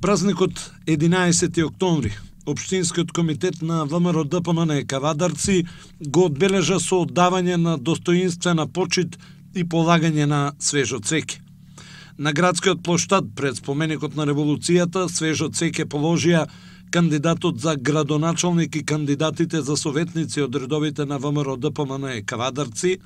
Празникот 11 октомври, Општинскиот комитет на ВМРО ДПМН Кавадарци го одбележа со оддавање на достоинствена почит и полагање на свежо цвеќе. На градскиот плоштад пред споменикот на револуцијата свежо цвеќе положија кандидатот за градоначалник и кандидатите за советници од редовите на ВМРО ДПМН Кавадарци,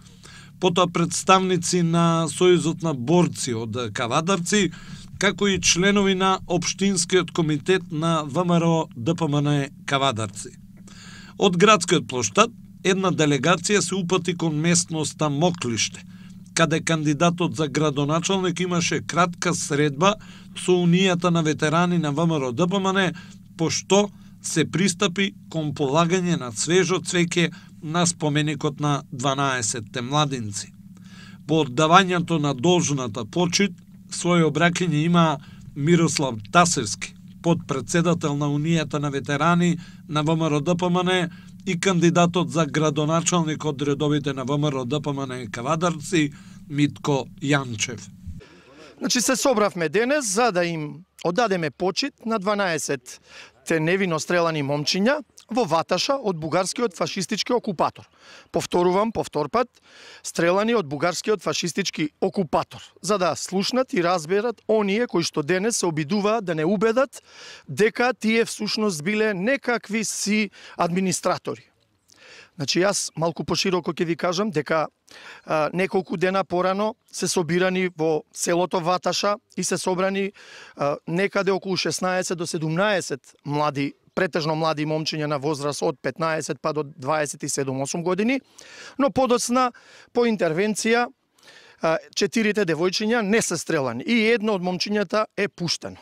потоа представници на Сојузот на борци од Кавадарци, како и членови на Општинскиот комитет на ВМРО ДПМН Кавадарци. Од градскиот плоштад една делегација се упати кон местноста Моклиште, каде кандидатот за градоначалник имаше кратка средба со Унијата на ветерани на ВМРО ДПМН, пошто се пристапи кон полагање на свежо цвеќе на споменикот на 12 младинци. По оддавањето на должната почит, своје обраќање има Мирослав Тасевски, подпредседател на Унијата на ветерани на ВМРО ДПМН и кандидатот за градоначалник од редовите на ВМРО ДПМН Кавадарци Митко Јанчев. Значи се собравме денес за да им оддадеме почит на 12 невино стрелани момчиња во Ваташа од бугарскиот фашистички окупатор. Повторувам, повтор пат, стрелани од бугарскиот фашистички окупатор, за да слушнат и разберат оние кои што денес се обидуваат да не убедат дека тие всушност биле некакви си администратори. Значи јас малку пошироко ќе ви кажам дека неколку дена порано се собирани во селото Ваташа и се собрани некаде околу 16 до 17 млади, претежно млади момчиња на возраст од 15 па до 27-8 години, но подоцна по интервенција 4 девојчиња не се стрелани и едно од момчињата е пуштено.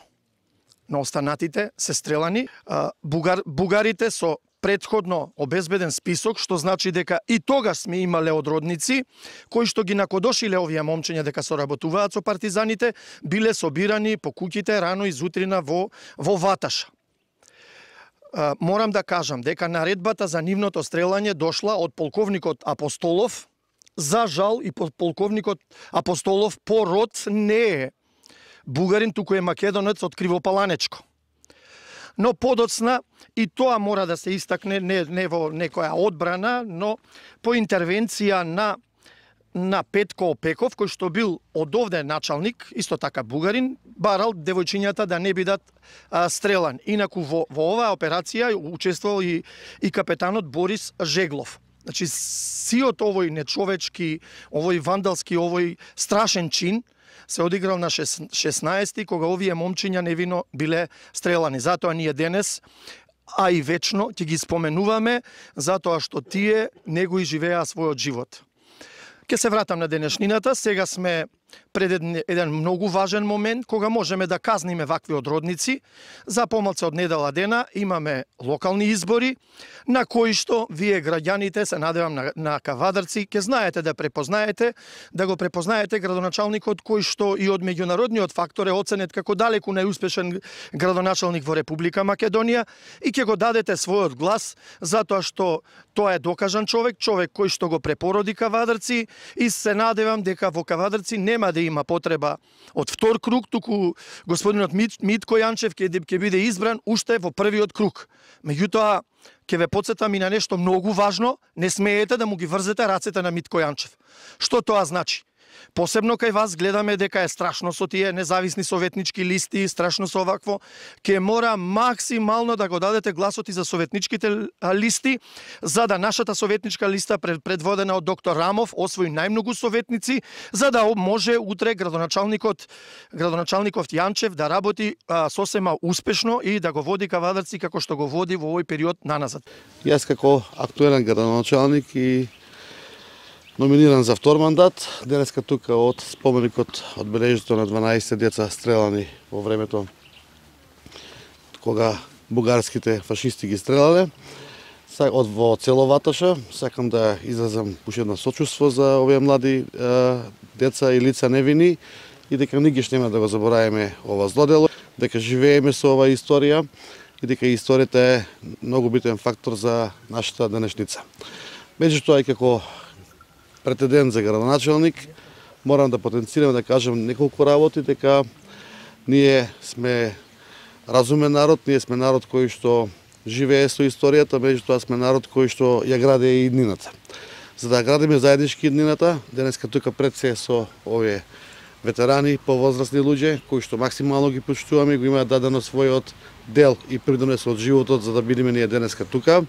Но останатите се стрелани. Бугарите со предходно обезбеден список, што значи дека и тогаш сме имале одродници кои што ги накодошиле овие момчиња дека соработуваат со партизаните, биле собирани по куќите рано изутрина во Ваташа. Морам да кажам дека наредбата за нивното стрелање дошла од полковникот Апостолов. За жал и полковникот Апостолов по род не е бугарин, туку е македонец од Кривопаланечко. Но подоцна, и тоа мора да се истакне не во некоја одбрана, но по интервенција на Петко Опеков, кој што бил од овде началник, исто така бугарин, барал девојчињата да не бидат стрелани. Инаку во оваа операција учествувал и капетанот Борис Жеглов. Значи, сиот овој нечовечки, овој вандалски, овој страшен чин се одиграл на 16-ти, кога овие момчиња невино биле стрелани. Затоа ние денес, а и вечно, ќе ги споменуваме, затоа што тие не го изживеа својот живот. Ке се вратам на денешнината. Сега сме пред еден многу важен момент, кога можеме да казниме вакви одродници. За помалку од недела дена имаме локални избори, на кои што вие граѓаните, се надевам на Кавадарци, ќе знаете да препознаете, да го препознаете градоначалникот кој што и од меѓународниот фактор е оценет како далеку најуспешен градоначалник во Република Македонија и ќе го дадете својот глас, затоа што тоа е докажан човек кој што го препороди Кавадарци и се надевам дека во Кавадарци нема да има потреба од втор круг, туку господинот Митко Јанчев ќе биде избран уште во првиот круг. Меѓутоа, ќе ве потсетам и на нешто многу важно, не смеете да му ги врзете рацете на Митко Јанчев. Што тоа значи? Посебно кај вас гледаме дека е страшно со тие независни советнички листи, страшно со овакво. Ке мора максимално да го дадете гласот и за советничките листи, за да нашата советничка листа предводена од доктор Рамов освои најмногу советници, за да може утре градоначалникот Јанчев да работи сосема успешно и да го води Кавадарци како што го води во овој период наназад. Јас како актуелен градоначалник и номиниран за втор мандат, денеска тука од споменикот одбележител на 12 деца стрелани во времето кога бугарските фашисти ги стрелале во цело Ваташа. Сакам да изразам уште едно сочувство за овие млади деца и лица невини и дека нигиш нема да го забораваме ова злодело, дека живееме со оваа историја и дека историјата е многу битен фактор за нашата денешница. Меѓутоа и како претендент за градоначалник, морам да потенцирам да кажам неколку работи, дека ние сме разумен народ, ние сме народ кој што живее со историјата, меѓутоа сме народ кој што ја гради и иднината. За да градиме заеднички иднината, денеска тука пред се со овие ветерани, повозрастни луѓе, кои што максимално ги почитуваме, го имаат дадено својот дел и придонес од животот за да бидеме ние денеска тука.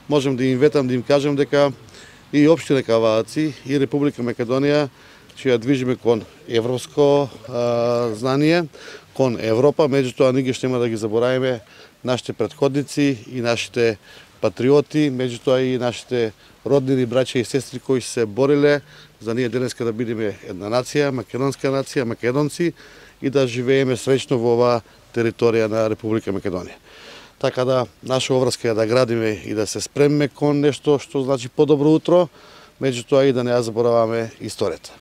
Можем да им ветам, да им кажем дека и општина Кавааци и Република Македонија ќе ја движиме кон европско знание, кон Европа, меѓутоа ние ќе нема да ги заборавиме нашите претходници и нашите патриоти, меѓутоа и нашите роднини, браќа и сестри кои се бориле за ние денеска да бидеме една нација, македонска нација, македонци и да живееме среќно во оваа територија на Република Македонија. Така да, наша обврска е да градиме и да се спремиме кон нешто што значи подобро утро, меѓутоа и да не ја забораваме историјата.